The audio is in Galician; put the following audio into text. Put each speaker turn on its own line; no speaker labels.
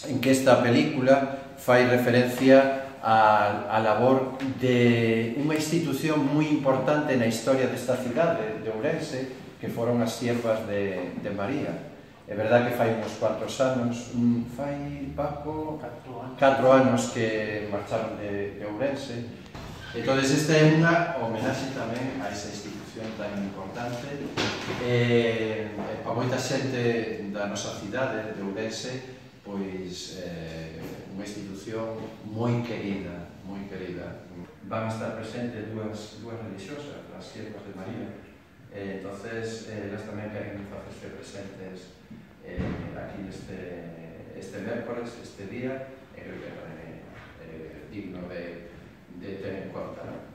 en que esta película fai referencia á labor de unha institución moi importante na historia desta cidade de Ourense, que foron as Siervas de María. É verdad que fai uns cuantos anos, fai, Paco, 4 anos que marcharon de Ourense. Entón, esta é unha homenaxe tamén a esa institución tan importante. Para moita xente da nosa cidade de Ourense, pois unha institución moi querida, moi querida. Van a estar presentes dúas religiosas, as Siervas de María. Entonces, elas tamén queren facerse presentes aquí este mércores, este día, creo que é digno de ter en conta, non?